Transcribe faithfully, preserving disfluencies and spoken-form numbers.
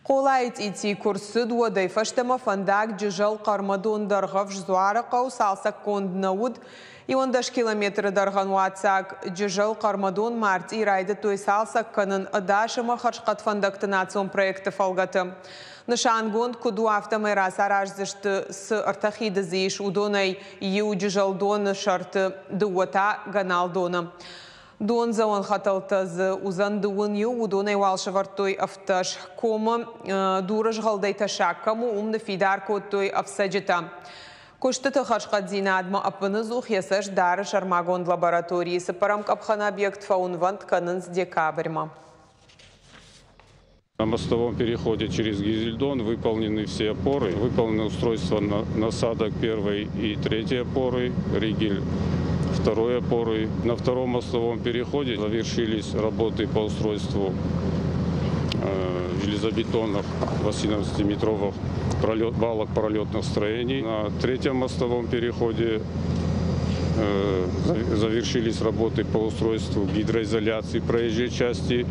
Хъолайы цъити куы рцыд, уӕдӕй фӕстӕмӕ фӕндаг Джызӕл-Хъӕрмӕдон-Дӕргъӕвс-Дзуарыхъӕу цалцӕггонд нӕ уыд. Иуӕндӕс километры дӕргъӕн уаццаг Джызӕл-Хъӕрмӕдон мартъийы райдыдтой цалцӕг кӕнын ӕдас ӕмӕ хӕрзхъӕд фӕндӕгты национ проекты фӕлгӕты. Нысангонд куыд у, афтӕмӕй рацараздзысты, цы ӕртӕ хиды дзы ис, уыдонӕй иу Джызӕлдоны сӕрты, дыууӕ та Гӕналдоны. Дондзӕуӕн хӕтӕлтӕ дзы уыдзӕн дыууын иу, уыдонӕй уал сӕвӕрдтой ӕвддӕс. Комы дурызгъӕлдӕй тӕссаг кӕм у, уым ныффидар кодтой ӕфцӕджытӕ. Куыстыты хӕрзхъӕддзинадмӕ ӕппыныдзух йӕ цӕст дары сӕрмагонд лабораторийы. Цыппӕрӕм къӕпхӕны объект фӕуынвӕнд кӕнынц декабрьмӕ. На мостовом переходе через Гизельдон выполнены все опоры. Выполнено устройство насадок первой и третьей опоры, ригель второй опоры. На втором мостовом переходе завершились работы по устройству э, железобетонных восемнадцатиметровых пролет, балок пролетных строений. На третьем мостовом переходе э, завершились работы по устройству гидроизоляции проезжей части.